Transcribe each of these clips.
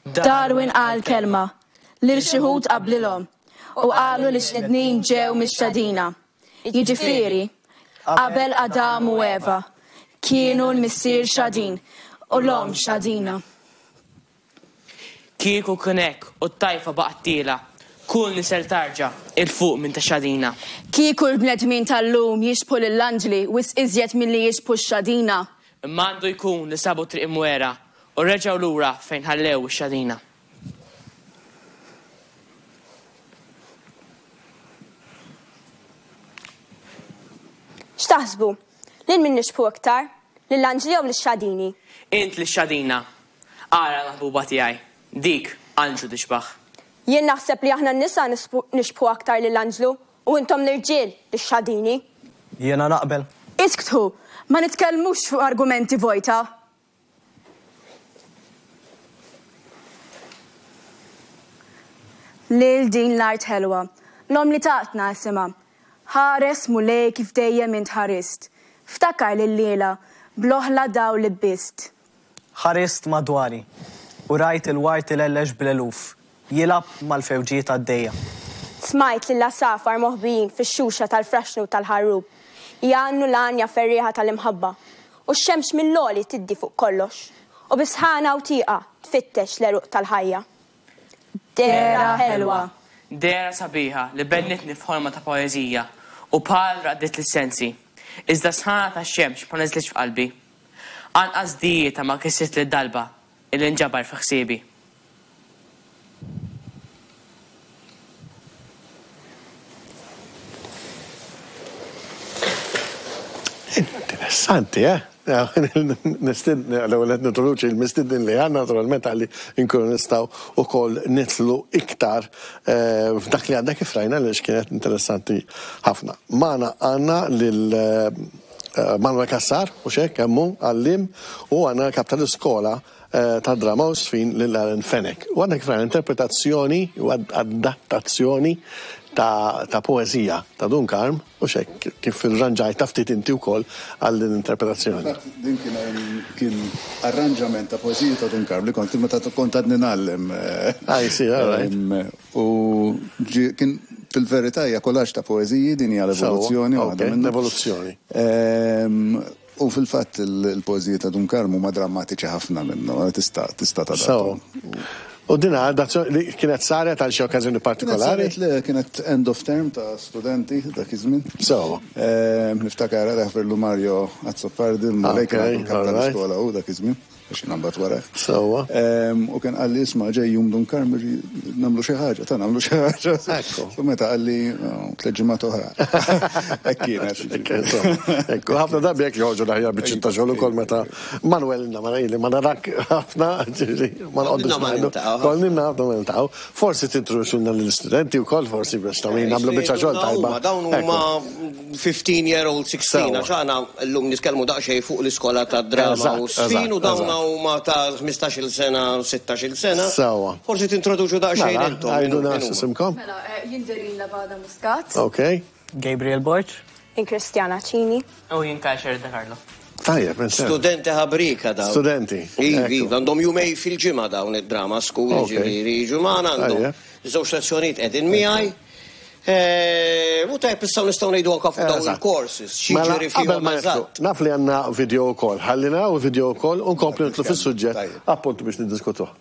Darwin qal kelma lil xi wħud qablilhom u qalu li x-xnednin ġew mix-xadina. Jiġifieri, qabel Adam u Eva, kienu l-missier xadin u l-omm xadina. Kieku kien hekk u t-tajfa baqgħet tielgħa, kull nisel tarġa' 'il fuq minn ta' xadina. Kieku l-bnedmin tal-lum jixbħu lill-anġli wisq iżjed milli jixbħu x-xadina. Imma għandu jkun li sabu triq imwiegħra u reġgħu lura fejn ħallew ix-xadina. X'taħsbu? Lil min nixbħu iktar? Lill-anġli jew lix-xadini? Int lix-xadina. Ara l-maħbuba tiegħi. Dik anġlu tixbah. Jien naħseb li aħna n-nisa nixbħu aktar lill-anġlu u intom l-irġiel lix-xadini. Jiena naqbel. Isktħu! Ma nitkellmux fuq argumenti vojta. Lil din l-art ħelwa, l-omm li tatna isimha. Ħares, Mulej, kif dejjem int ħarist. Ftakar li llejla, bl-oħla dawl libbist. Ħarist madwari, u rajt il-ward ilellex bl-eluf, jilgħab mal-fewġiet għaddejja. Smajt lill-għasafar moħbijin fix-xuxa tal-fraxxnu u tal-ħarrub, jgħannu l-għanja ferrieħa tal-imħabba, U x-xemx mill-għoli tiddi fuq kollox, u bi sħana u tieqa tfittex l-għeruq tal-ħajja. Dehra ħelwa. Dehra sabiħa li bennitni f'ħolma ta' poeżija u bħal raqqditli s-sensi. Iżda s-sħana tax-xemx ma niżlitx f'qalbi. Anqas dijietha ma kissritli d-dalba illi nġabar fi ħsiebi. Interessanti, eh? Nistidni, l-ewwel qed nintroduċi l-mistidnin li għandna naturalment għalli nkunu nistgħu wkoll nidħlu iktar eh, f'dak li għandna kif rajna li kienet interessanti ħafna. Magħna għandna lil eh, Manuel Cassar, u xek, hemmu, għallim, u għandna l-kap tal-iskola tad-drama u żfin lil Aaron Fenech. U għandek fra interpretazzjoni u adattazzjoni ta' poeżija ta' Dun Karm u xek kif irranġajtha ftit inti wkoll għal din l-interpretazzjoni. Fil-fatt din kien arranġament ta' poeżija ta' Dun Karm li kont meta kont għadni ngħallem. I see, all right. U kien fil-verità hija collage ta' poeżiji din hija l-evoluzzjoni waħda minnhom. L-evoluzzjoni. U fil-fatt il-poeżiji ta' Dun Karm huma drammatiċi ħafna minnhom, tista' tista' tadattahom. U din adazzjoni li kienet saret għal xi okkażjoni partikolari? Kienet saret le, kienet end of term ta' studenti dak iż-żmien. Sewwa. Niftakar jaħfirlu Mario Azzopardi, l-mulej kien għadu l-kap tal-iskola hu dak iż-żmien. Għax jiena mbagħad warajh. Sewwa. U kien qalli isma' ġej jum Dun Karm nagħmlu xi ħaġa, ta' nagħmlu xi ħaġa. Ekku. U meta qalli oh, tliet ġimgħat oħra. Hekk kienet. Ekku, ħafna drabi hekk joħorġu l-aħjar biċċiet ta' xogħol ukoll meta Manuel inna ma ma narak ħafna, ma nqogħdux ngħidu. Kol ninna ħafna ma niltaqgħu. Forsi tintroduċulna lill-istudenti wkoll forsi biex ta' min nagħmlu biċċa xogħol tajba. Dawn huma 15 year old, 16, għax aħna llum nitkellmu daqsxejn fuq l-iskola tad-drama u ż-żfin u dawn huma ta' 15-il sena, 16-il sena. Sewwa. Forsi tintroduċu daqsxejn Mela, intom. għidulna x'isimkom. Mela, jien Doreen Labada Muscat. Ok. Gabriel Borg. Jien Christiana Cini. U jien Kyle Sherry De Carlo. Tajjeb, insomma. Studenti ħabrieka dawn. Studenti. Iva, iva, għandhom jumej fil-ġimgħa dawn id-drama school, jiġifieri jiġu magħna għandhom żewġ lezzjonijiet qegħdin miegħi. U tajjeb issa nistgħu ngħidu anke fuq dawn il-courses, x'jiġri fihom eżatt. Naf li għandna video wkoll. Ħalli naraw il-video wkoll u nkomplu nidħlu fis-suġġett appuntu biex niddiskutuh.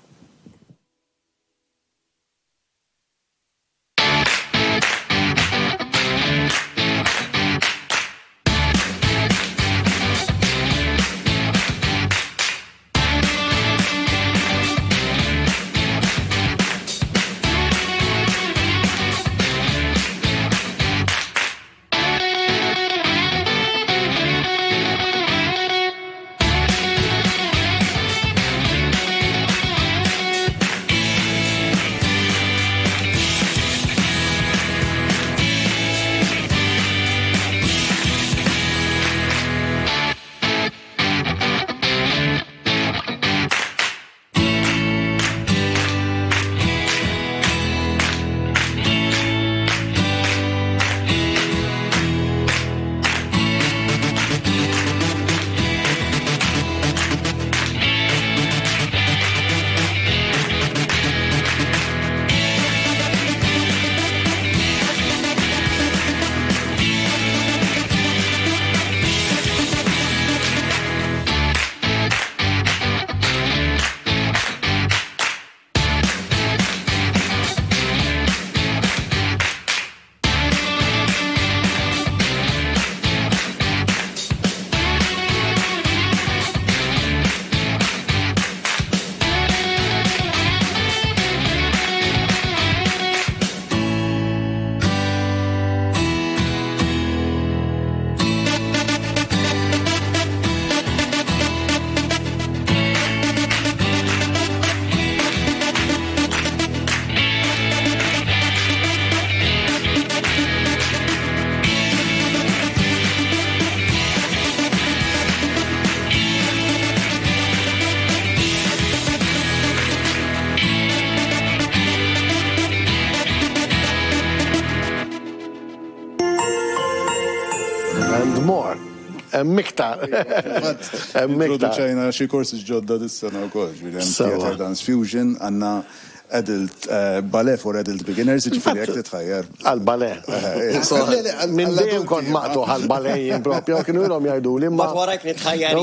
And more. Hemm iktar. Hemm iktar. Introduċejna xi courses ġodda dis-sena wkoll, ġifieri hemm Theatre Dance Fusion, għandna adult eh, ballet for adult beginners, ġifieri jekk titħajjar. Għal ballet. Eh, eh, Minn dejjem kont maqtu għal ballet jien propju, kienu ilhom jgħiduli ma. Warajk nitħajjar.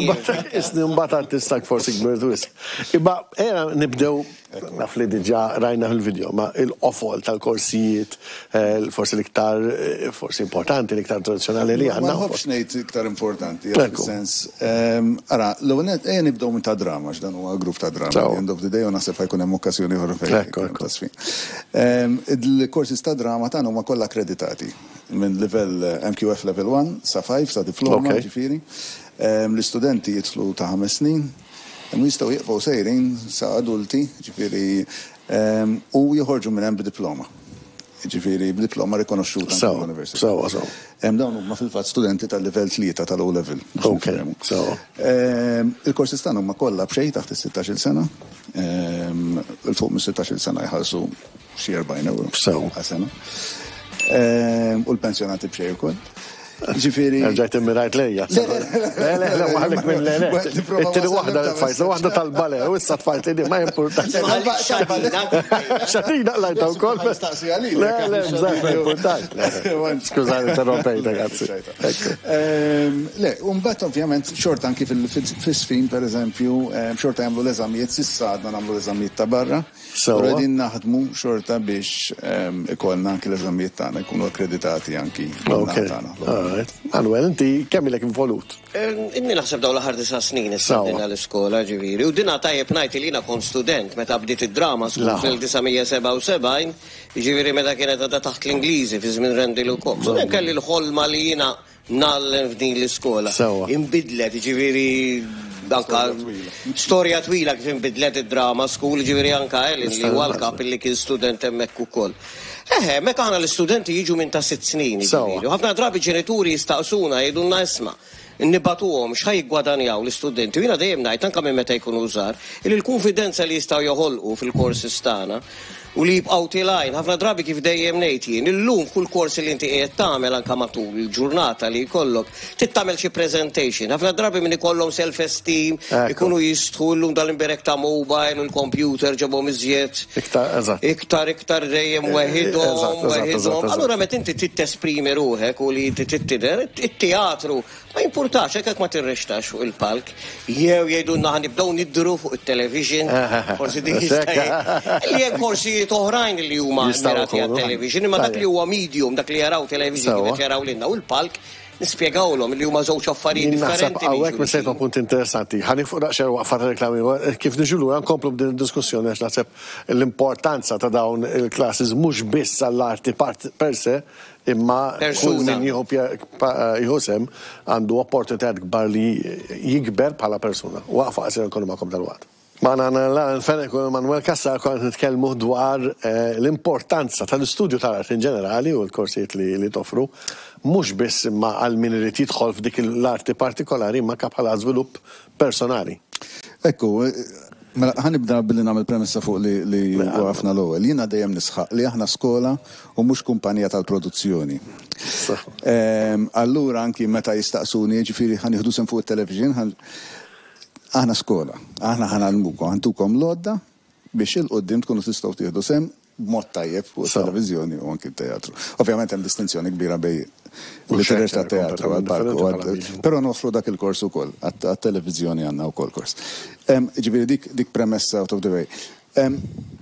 Isni mbagħad artistak forsi kbir wisq. Imma era nibdew Naf li diġà rajna fil-video, ma il-qofol tal-korsijiet, eh, forsi l-iktar eh, forsi importanti, l-iktar tradizzjonali li għandna. Ma nħobbx ngħid iktar importanti, sens. Ehm, ara, l-ewwel nett ejja nibdew minn ta' drama, x'dan huwa grupp ta' drama. End of the day u naħseb ħajkun hemm okkażjoni oħra fejn. Ehm, il-korsis ta' drama tagħna huma kollha akkreditati minn livell eh, MQF level 1 sa 5 sa diploma ġifieri. Ehm, l-istudenti jidħlu ta' ħames snin. Imma jistgħu jieqfu sejrin sa adulti, ġifieri, u joħorġu minn hemm b'diploma. Ġifieri b'diploma rikonoxxuta mill-università. Sewwa, sewwa. Dawn huma fil-fatt studenti tal-livell tlieta tal-O level. Ok, sewwa. Il-courses tagħna huma kollha b'xejn taħt is-sittax-il sena. 'Il fuq mis-sittax-il sena jħallsu xi 40 ewro. Sew. Għal sena. U l-pensjonati b'xejn ukoll. Ġifieri. Rġajt immirajt lejja. Le, le, le, ma ħallik minn le, le. It-tieni waħda tfajt, waħda tal-bale, u issa tfajt li ma importax. Xatina lajta wkoll. Le, le, bżajt ma importax. Skużani, interrompejt, ragazzi. Le, u mbagħad ovvjament xorta anki fil-sfin, per eżempju, xorta jagħmlu l-eżamijiet, s'issa għadna nagħmlu l-eżamijiet ta' barra. Sewwa. Però qegħdin naħdmu xorta biex ikollna anki l-eżamijiet tagħna jkunu akkreditati anki min-naħa tagħna. All right. Manuel, inti kemm ilek involut? Inni naħseb dawn l-aħħar disa' snin issa bdejna l-iskola ġifieri. U dinha tajjeb ngħid li jiena kont student meta bdiet id-drama school fl-1977, jiġifieri meta kienet għadha taħt l-Ingliżi fi żmien Randall u Cox. U dejjem kelli l-ħolma li jiena ngħallem f'din l-iskola. Inbidlet, jiġifieri anka storja twila kif inbidlet id-drama school, jiġifieri anka Ellen li huwa l-kap li kien student hemmhekk ukoll. Eħe, hemmhekk aħna l-istudenti jiġu minn ta' sitt snin, jiġifieri. U ħafna drabi ġenituri jistaqsuna jgħidulna isma' nibagħtuhom x'ħa jiggwadanjaw l-istudenti. U jiena dejjem ngħid anke minn meta jkunu żgħar, illi l-kunfidenza li jistgħu joħolqu fil-courses tagħna u li jibqgħu tilgħin, ħafna drabi kif dejjem ngħid jien, illum f'kull kors li inti qiegħed tagħmel anke matul il-ġurnata li jkollok, trid tagħmel xi presentation. Ħafna drabi min ikollhom self esteem, ikunu jistħu illum dal-imberek ta' mobile u l-computer ġabhom iżjed. Iktar, eżatt. Iktar, iktar dejjem weħidhom, weħidhom. Allura meta inti trid tesprimi ruħek u li inti trid tidher, it-teatru Ma jimpurtax hekk jekk ma tirrextax fuq il-palk, jew jgħidulna ħa nibdew nidhru fuq it-television, forsi dik jista' li hemm korsijiet oħrajn li huma mirati għat-television, imma dak li huwa medium, dak li jaraw television kif qed jaraw lilna u l-palk, nispjegawlhom li huma żewġ affarijiet differenti. Hawnhekk missejt ma' punt interessanti. Ħa nieqfu daqsxejn waqfa ta' reklami. Kif niġu lura nkomplu b'din id-diskussjoni għax naħseb l-importanza ta' dawn il-classes mhux biss għall-arti per se, Imma kull min jieħu jieħu sehem għandu opportunitajiet kbar li jikber bħala persuna. Waqfa qasira nkunu magħkom dalwaqt. Magħna għandna Alan Fenech u Emanuel Cassar konna qed nitkellmu dwar l-importanza tal-istudju tal-arti in ġenerali u l-korsijiet li toffru, mhux biss imma għal min irid jidħol f'dik l-arti partikolari imma anke bħala żvilupp personali. Ekku, mela ħa nibda billi nagħmel premessa fuq li li waqafna l-ewwel. Jiena dejjem nisħaq li aħna skola u mhux kumpanija tal-produzzjoni. Allura anki meta jistaqsuni, jiġifieri ħa nieħdu sehem fuq it-television, aħna skola, aħna ħa ngħallmukom, ħa ntukom l-għodda biex 'il quddiem tkunu tistgħu tieħdu sehem b'mod tajjeb fuq it-televiżjoni u anki t-teatru. Ovvjament hemm distinzjoni kbira bejn li tirreċta t-teatru għall-palk, però noffru dak il-kors ukoll, għat-televiżjoni għandna wkoll kors. Ġifieri dik dik premessa out of the way.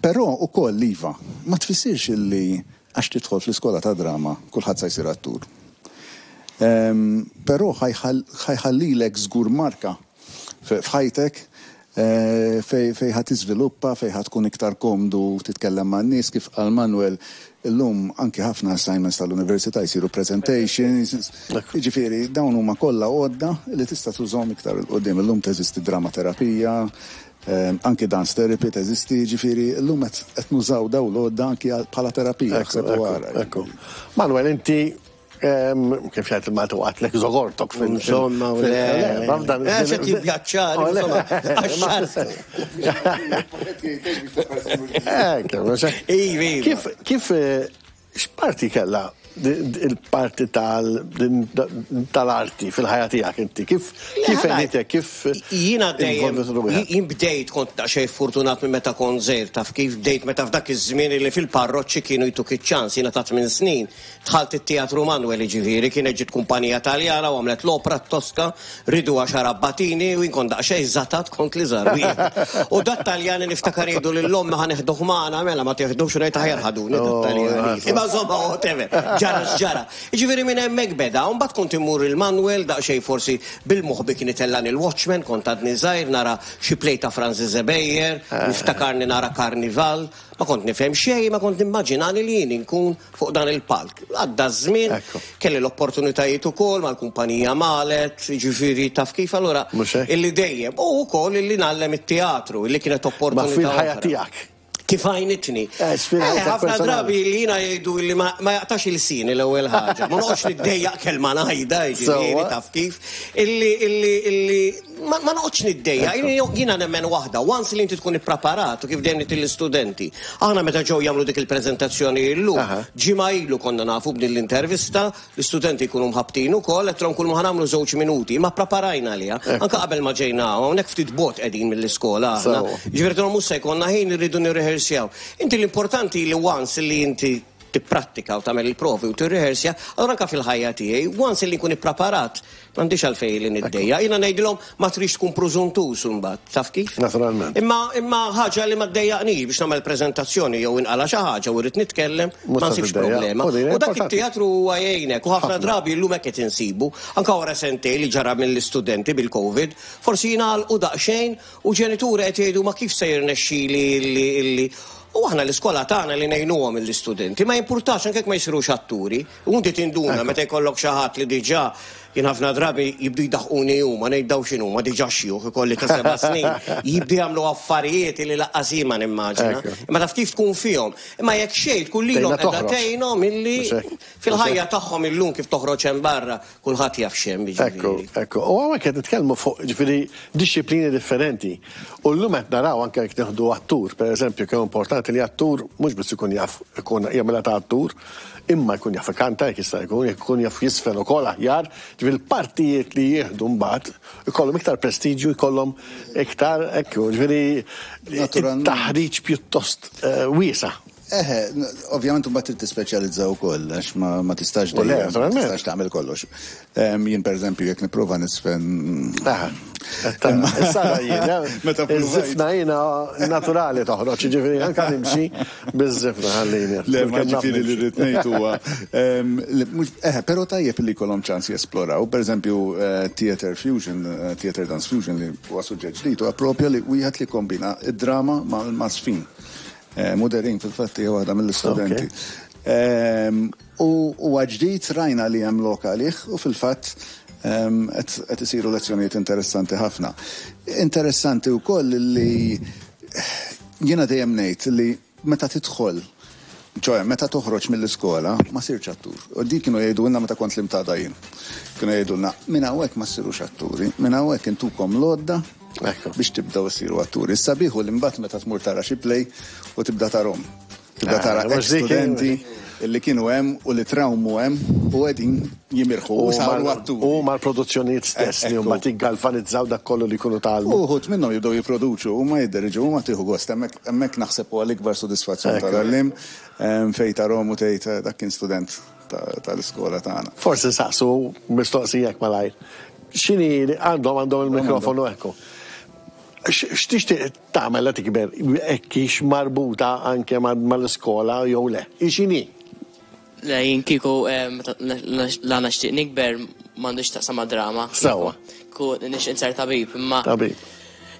Però ukoll iva, ma tfissirx illi għax tidħol fl-iskola ta' drama kulħadd sa jsir attur. Però ħa jħallilek żgur marka f'ħajtek fejn fejn ħa tiżviluppa, fejn ħa tkun iktar komdu titkellem man-nies, kif qal Manuel, illum anki ħafna assignments tal-università jsiru presentations, jiġifieri dawn huma kollha għodda li tista' tużahom iktar 'il quddiem. Illum teżisti dramaterapija, anki dance therapy teżisti, jiġifieri llum qed nużaw dawn l-għodda anki bħala terapija, aħseb u ara. Ekku, ekku. Manuel, inti Kif jgħid il-Malti waqgħatlek żogortok fil- Insomma, u le. Għax qed jivvjaġġar, insomma. Kif, kif, x'parti kellha il-parti tal-arti fil-ħajja tiegħek inti? Kif kif għenitek, kif Jiena dejjem jien bdejt kont daqsxejn fortunat minn meta kont żgħir taf kif bdejt meta f'dak iż-żmien li fil-parroċċi kienu jtuk iċ-ċans jiena ta' tmien snin Dħalt it-Teatru Manuel jiġifieri, kienet ġiet kumpanija Taljana u għamlet l-opra t-Tosca, riedu għaxar abbatini u jien kont daqsxejn żatat kont l-iżgħar wieħed. U dat-Taljani niftakar jgħidu lil ommi ħa neħduh magħna, mela ma tieħdux u ngħid aħjar ħaduni dat-Taljani. Imma insomma whatever, ġara x'ġara. Jiġifieri minn hemmhekk beda, u mbagħad kont immur il-Manuel daqsxejn forsi bil-moħbi kien itellagħni l-Watchman, kont għadni żgħir nara xi play ta' Franz Zebeyer, niftakarni nara Carnival, ma kont nifhem xejn, ma kont nimmaġinani li jien inkun fuq dan il-palk. Għadda ż-żmien, kelli l-opportunitajiet ukoll mal-kumpanija Malet, jiġifieri taf kif allura illi dejjem u wkoll illi ngħallem it-teatru, illi kienet opportunità. Ma fil-ħajja tiegħek. Kif għajnitni. Eh, ħafna drabi li jiena jgħidu li ma jaqtax il-sini l-ewwel ħaġa. Ma noqgħodx niddejjaq kelma ngħidha, jiġifieri taf kif. Illi illi illi Ma noqgħodx niddejjaq, jiena nemmen waħda, once li inti tkun ippreparat u kif dejjem ngħid lill-istudenti. Aħna meta ġew jagħmlu dik il-preżentazzjoni illum, ġimgħa ilu konna nafu b'din l-intervista, l-istudenti jkunu mħabbtin ukoll, għedtilhom kull ma ħa nagħmlu żewġ minuti, imma ppreparajna għaliha. Anke qabel ma ġejna hawn, hawnhekk ftit bogħod qegħdin mill-iskola aħna. Jiġifieri għedtilhom mhux se jkollna ħin irridu nirriħersjaw. Inti l-importanti li once li inti tipprattika u tagħmel il-provi u tirriħersja, allura anke fil-ħajja tiegħi, once li nkun ippreparat, M'għandix għalfejn li niddejjaq. Jiena ngħidilhom ma tridx tkun prużuntuż imbagħad, taf kif? Naturalment. Imma imma ħaġa li ma ddejjaqnix biex nagħmel preżentazzjoni jew inqala' xi ħaġa u rrid nitkellem, ma nsibx problema. U dak it-teatru huwa jgħinek u ħafna drabi llum hekk qed insibu, anke wara sentejn li ġara mill-istudenti bil-Covid, forsi jingħalqu daqsxejn u ġenituri qed jgħidu ma kif se jirnexxili illi illi U aħna l-iskola tagħna li ngħinuhom lill-istudenti, ma jimpurtax anke jekk ma jsirux atturi. U inti tinduna meta jkollok xi ħadd li diġà jien ħafna drabi jibdu jdaħquni huma, ngħid dawn x'inhuma diġà xjuħ ikolli ta' seba' snin, jibdu jagħmlu affarijiet li lanqas jien ma nimmaġina. Imma taf kif tkun fihom. Imma jekk xejn tkun lilhom qiegħda tgħinhom illi fil-ħajja tagħhom illum kif toħroġ hemm barra kulħadd jaf x'hemm jiġifieri. Ekku, ekku. U hawnhekk qed nitkellmu fuq jiġifieri dixxiplini differenti. U llum qed naraw anke jekk nieħdu attur, pereżempju, kemm importanti li attur mhux biss ikun jaf ikun jagħmilha ta' attur, Imma jkun jaf ikanta jekk jista' jkun, jekk ikun jaf jiżfen ukoll aħjar, ġifieri l-partijiet li jieħdu mbagħad ikollhom iktar prestiġju, jkollhom iktar hekk, ġifieri taħriġ pjuttost wiesa'. Eħe, ovvjament imbagħad trid tispeċjalizza wkoll għax ma tistax dejjem ma tistax tagħmel kollox. Jien pereżempju jekk nipprova niżfen. Issa jiena, meta iż-żifna jiena naturali toħroġ, jiġifieri anke nimxi biż-żifna ħallini. Le, ma ġifieri li rrid ngħid huwa eħe, però tajjeb li jkollhom ċans jesploraw, pereżempju theater fusion, theater dance fusion li huwa suġġett ġdid huwa propju li wieħed li jkombina d-drama mal-żfin. Muderin fil-fatt hija waħda mill-istudenti. U huwa ġdid, rajna li hemm lok għalih u fil-fatt qed isiru lezzjonijiet interessanti ħafna. Interessanti wkoll li jiena dejjem ngħid li meta tidħol, ċoe meta toħroġ mill-iskola ma sirtx attur. U dik kienu jgħidulna meta kont l-imtada jien. Kienu jgħidulna minn hawnhekk ma ssirux atturi, minn hawnhekk intukom l-għodda biex tibdew issiru atturi. Is-sabiħ hu li mbagħad meta tmur tara xi play u tibda tarhom. Tibda tara eh, ex-studenti li kienu hemm u li trawmu hemm u qegħdin jimirħu u saru atturi. U mal-produzzjonijiet stess li huma tiggalvanizzaw dak kollu li jkunu tgħallmu. Uħud minnhom jibdew jipproduċu u ma jidderġu u ma tieħu gost hemmhekk naħseb huwa l-ikbar sodisfazzjon tal-għallim fejn tarhom u tgħid eh, dak kien student tal-iskola tagħna. Forsi saqsu mistoqsija malajr. X'inhi għandhom għandhom il-mikrofonu ekku. X'tixtieq tagħmel la tikber hekk hix marbuta anke mal-iskola jew le? Hi x'inhi? Le, jien kieku la nixtieq nikber m'għandux x'taqsam mad-drama. Sewwa. Kieku nixtieq insir tabib, imma. Tabib.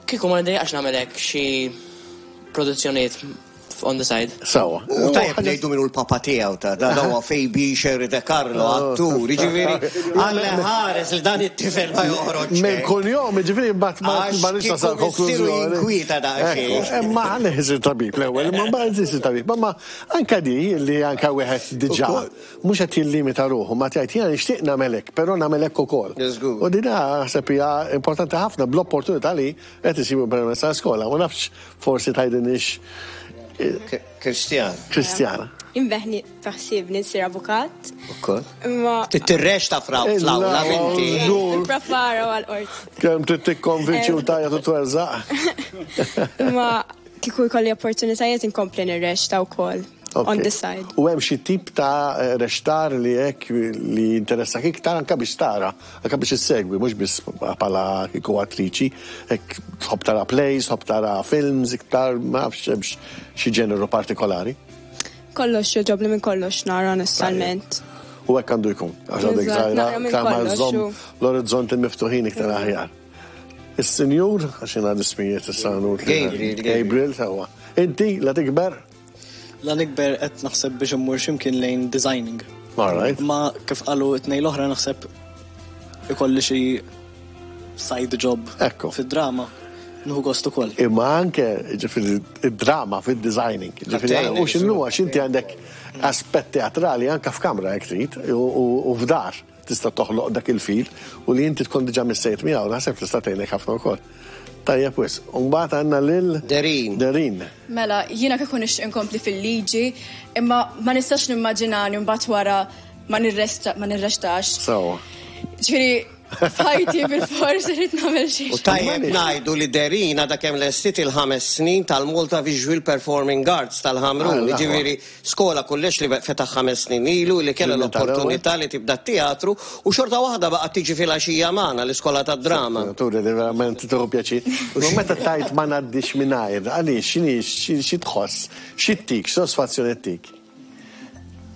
Kieku ma niddejjaqx nagħmel hekk xi produzzjonijiet on the side. Sawa. U tajjeb ngħidu min hu l-papa tiegħu ta' dan huwa Fabi Sherry De Carlo, oh. attur, jiġifieri għal ħares li dan it-tifel ma joħroġ. Minn kuljom, jiġifieri mbagħad ma nix nasal konklużjoni. Inkwieta daqsxejn. Imma ħalli isir tabib l-ewwel, imma mbagħad isir tabib. Ma anka di li anka wieħed diġà mhux qed jillimita ruħu, ma tgħid jiena nixtieq nagħmel hekk, però nagħmel hekk ukoll. U din naħseb hija importanti ħafna bl-opportunità li qed isibu permezz tal-iskola. Ma nafx Forsi tgħidilniex. Kristjana. Kristjana. Inbeħni faħsibni nsir avukat. Ukoll. Imma. Tirrex ta' fraw fl-awla binti. Prepara għal-qorti. Kemm trid tikkonvinċi u tajja tu twerżaq. Imma kieku jkolli opportunitajiet inkompli nirrexta wkoll. On the side. U hemm xi tip ta' rextar li hekk li jinteressak iktar anke biex tara, anke biex issegwi, mhux biss bħala kieku attriċi, hekk tħobb tara plays, tħobb tara films iktar, ma nafx hemmx xi ġeneru partikolari. Kollox jogħġobni minn kollox nara onestament. U hekk għandu jkun, għax għadek żgħira, iktar ma żżomm l-orizzonti miftuħin iktar aħjar. Is-sinjur, għax jiena l-ismijiet issa Gabriel. Gabriel, sewwa. Inti, la tikber? La nikber qed naħseb biex immur x'imkien lejn designing. All right. Ma kif qalu t-tnejn l-oħra naħseb ikolli xi side job Ekku. fid-drama. Nieħu gost ukoll. Imma anke ġifieri id-drama fid-designing. Ġifieri u x'inhu għax inti għandek aspett teatrali anke f'kamra jekk trid u f'dar tista' toħloq dak il-fil u li inti tkun diġà missejt miegħu naħseb tista' tgħinek ħafna wkoll. Tajjeb wisq. U mbagħad għandna lil Derin. Derin. Mela, jiena kieku nixtieq inkompli fil-liġi, imma ma nistax nimmaġinani mbagħad wara ma nirresta ma nirrestax. Sewwa. Ġifieri f'ħajti bilfors irrid nagħmel xi U tajjeb ngħidu li Derin għadha kemm lestiet il-ħames snin tal-Malta Visual Performing Arts tal-Ħamrun, Ah, jiġifieri Skola kulleġġ li fetaħ ħames snin ilu li kellha l-opportunità li tibda t-teatru u xorta waħda baqgħet tiġi filgħaxija magħna l-iskola tad-drama. Turi li verament tieħu pjaċir. Imma meta tgħid ma ngħaddix mingħajr, għaliex x'inhi xi tħoss, xi ttik, x'sodisfazzjon ittik?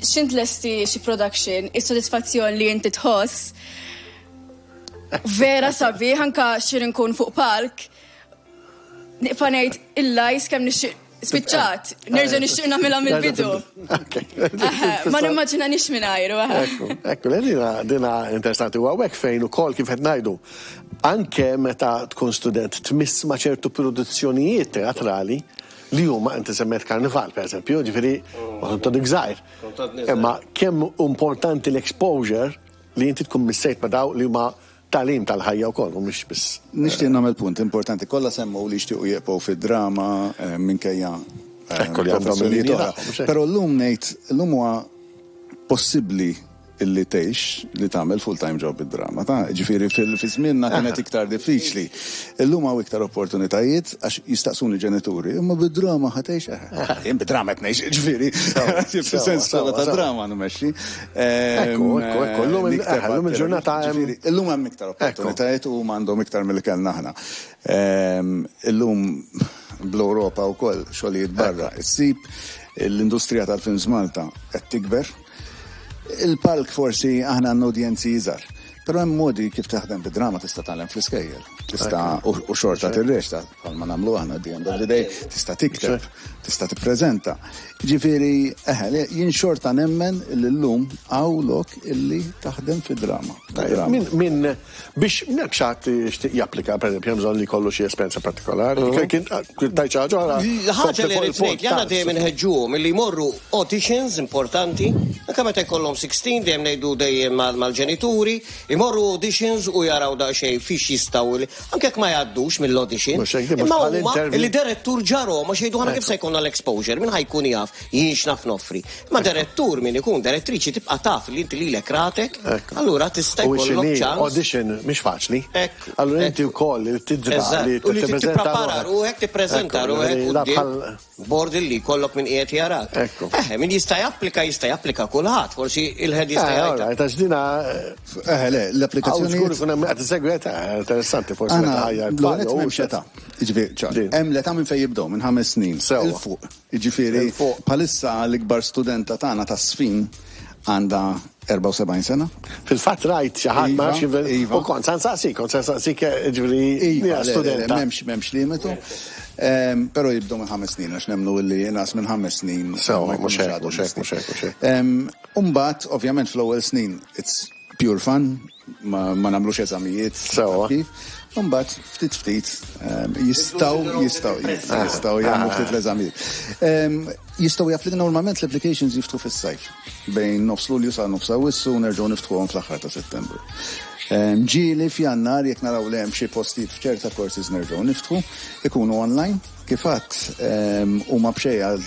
X'int lesti xi production, is-sodisfazzjon li inti tħoss vera sabiħ anka xi nkun fuq palk Nibqa' ngħid il-lajs kemm nixtieq spiċċat, nerġa' nixtieq nagħmilha mill-bidu. Ma nimmaġinanix mingħajru. Ekku, ekku, dina dina interessanti u hawnhekk fejn ukoll kif qed ngħidu. Anke meta tkun student tmiss ma' ċertu produzzjonijiet teatrali li huma inti semmejt karnival pereżempju, ġifieri kont għadek żgħir. Imma kemm importanti l-exposure li inti tkun missejt ma' daw li huma Tagħlim tal-ħajja wkoll u mhux biss. Nixtieq nagħmel punt importanti. Kollha semmew li jixtiequ jibqgħu fid-drama minkejja professjonijiet oħra. Però llum ngħid, llum huwa possibbli illi tgħix li tagħmel full-time job bid-drama, ta'. Ġifieri fi żmienna kienet iktar diffiċli. Illum hawn iktar opportunitajiet għax jistaqsuni ġenituri, imma bid-drama ħa tgħix? Eħe, jien bid-drama qed ngħix, ġifieri, fis-sens skola ta' drama nmexxi. Ekku, ekku, ekku, illum illum il-ġurnata hemm. Illum hemm iktar opportunitajiet u huma għandhom iktar milli kellna aħna. Illum bl-Ewropa wkoll xogħlijiet barra issib, l-industrija tal-films Malta qed tikber. Il-palk forsi aħna għandna udjenzi iżgħar. Però hemm modi kif taħdem bid-drama tista' tgħallem fl-iskejjel. Tista' u xorta tirreċta bħalma nagħmlu aħna at the end of the day, tista' tikteb, tista' tippreżenta. Ġifieri, eħe, jien xorta nemmen li llum hawn lok illi taħdem fid-drama. Min, min, biex jekk xi ħadd jixtieq japplika, pereżempju, hemm bżonn li jkollu xi esperjenza partikolari. Kien tgħid xi ħaġa oħra. L-ħaġa li rrid ngħid li aħna dejjem inħeġġuhom illi jmorru auditions importanti, anke meta jkollhom 16 dejjem ngħidu dejjem mal-ġenituri, imorru auditions u jaraw daqsxejn fiex jistgħu, anke jekk ma jgħaddux mill-audition. Imma huma li direttur ġarhom għax jgħidu aħna kif se jkollna l-exposure, min ħa jkun jaf jien x'naf noffri. Imma direttur min ikun, direttriċi tibqa' taf li inti lilek ratek, allura tista' jkollok ċans. Audition mhix faċli. Allura inti wkoll tidra li tipprepara ruħek, tippreżenta ruħek quddiem Bord illi jkollok min qiegħed jarak. Ekku. Eħe, min jista' japplika jista' japplika kulħadd, forsi il-head jista' eh, jgħid. Alright, għax dina. Eħe, le, l-applikazzjoni. Żgur ikun hemm qed isegwi eh, interessanti forsi meta ħajja. L-għonet m'hemmx età. Jiġifieri, ċar, hemm l-età minn fejn jibdew minn ħames snin. Sewwa. Il fuq. Jiġifieri, bħalissa l-ikbar studenta tagħna tas-sfin għandha 74 sena. Fil-fatt rajt xi ħadd ma nafx Iva, iva. U kont sa nsaqsik, kont sa nsaqsik eh, ġifieri Iva, studenta. M'hemmx m'hemmx limitu. Ehm, però jibdew minn ħames snin għax nemmnu li inqas minn ħames snin. Sewa, mhux hekk, mhux hekk, mhux hekk, mhux hekk. Ehm, Umbagħad, ovvjament fl-ewwel snin it's pure fun. ma nagħmlux eżamijiet. Sewwa. Kif. Imbagħad ftit ftit jistgħu jistgħu jistgħu jagħmlu ftit l-eżamijiet. Jistgħu japplika normalment l-applications jiftħu fis-sajf bejn nofs Lulju sa nofs Awwissu u nerġgħu niftħuhom fl-aħħar ta' Settembru. Ġieli f'Jannar jekk naraw li hemm xi postijiet f'ċerta courses nerġgħu niftħu, ikunu online. Kif għedt, huma b'xejn għal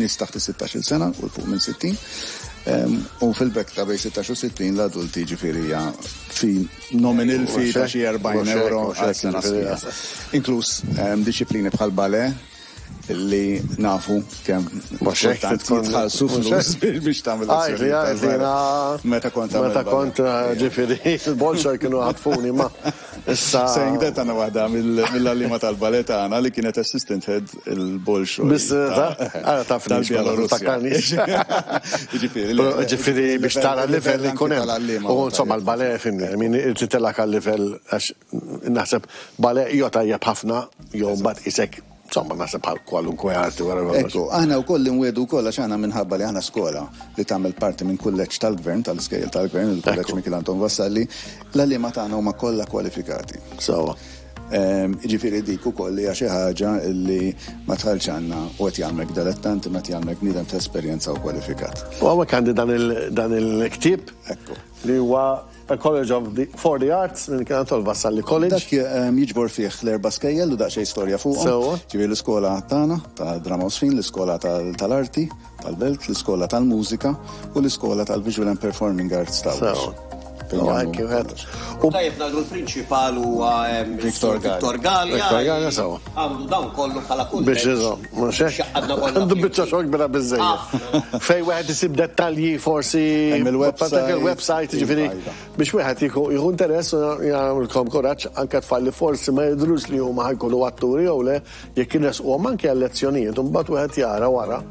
nies taħt is-16-il sena u 'l fuq minn 60. U fil-bekk ta' bejn 16 u 60 l-adulti ġifieri hija fee nominal fee ta' xi 40 euro għal sena sħiħa. Inkluż dixxiplini bħal ballet li nafu kemm kultant jitħallsu flus biex tagħmel lezzjonijiet. Meta kont Meta kont ġifieri il-Bolshoi kienu ħatfuni ma issa. Saying that għandna waħda mill-għalliema tal-ballet tagħna li kienet assistant head il-Bolshoi. Biss għara taf tal-Bielorussja. Ġifieri ġifieri biex tara l-livell li jkun hemm. U insomma l-ballet fimni, min irtitilak għal-livell għax naħseb ballet jew tajjeb ħafna jew mbagħad isek insomma naħseb bħal kwalunkwe arti wara kollox. Ekku, aħna wkoll inwiegħdu wkoll għax aħna minħabba li aħna skola li tagħmel parti minn kulleġġ tal-gvern, tal-iskejjel tal-gvern, il-kulleġġ Mikiel Anton Vassalli, l-għalliema tagħna huma kollha kwalifikati. Sewwa. Jiġifieri dik ukoll hija xi ħaġa li ma tħallx għandna u qed jagħmlek dilettant imma qed jagħmlek bniedem ta' esperjenza u kwalifikat. U hawnhekk għandi dan il-ktieb li huwa A College of the, for the Arts, minn Mikiel Anton Vassalli College. Dak jiġbor fih l-erba' skejjel u daqsxejn storja fuqhom. Sewwa. Ġifieri l-iskola tagħna ta' Drama u Żfin, l-iskola tal-arti tal-belt, l-iskola tal-mużika u l-iskola tal-Visual and Performing Arts ta' Għawdex. Sewwa. Fejn U jagħmlu hekk wieħed. U tajjeb ngħidu l-prinċipal huwa Victor Gallia. Victor Gallia. Victor Gallia sewwa. Għandu dawn kollu bħala kulleġġ. Biex iżomm, mhux hekk? X'għadna kollha Għandu biċċa xogħol kbira biżżejjed. Fejn wieħed isib dettalji forsi Hemm il-website. il-website, jiġifieri Iva, iva. biex wieħed jieħu interess u jagħmilkom kuraġġ anke tfal li forsi ma jidhrux li huma ħa jkunu atturi jew le, jekk irresquhom anke għal lezzjonijiet u mbagħad wieħed jara wara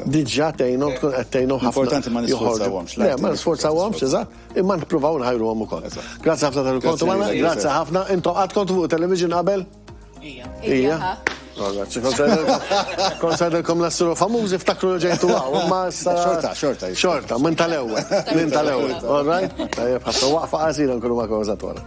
diġà tgħinhom tkun qed tgħinhom ħafna. Importanti ma nisforzawhomx. Le, ma nisforzawhomx, eżatt. Imma nippruvaw nħajruhom ukoll. Grazzi ħafna tal-kontu magħna, grazzi ħafna. Intom qatt kontu fuq television qabel? Ija. Ija. Kont sajdilkom l-assiru famużi ftakru li ġejtu għaw, ma issa. Xorta, xorta. Xorta, minn tal-ewwel, minn tal-ewwel. All right? Tajjeb ħafna waqfa qasira nkunu magħkom eżatt wara.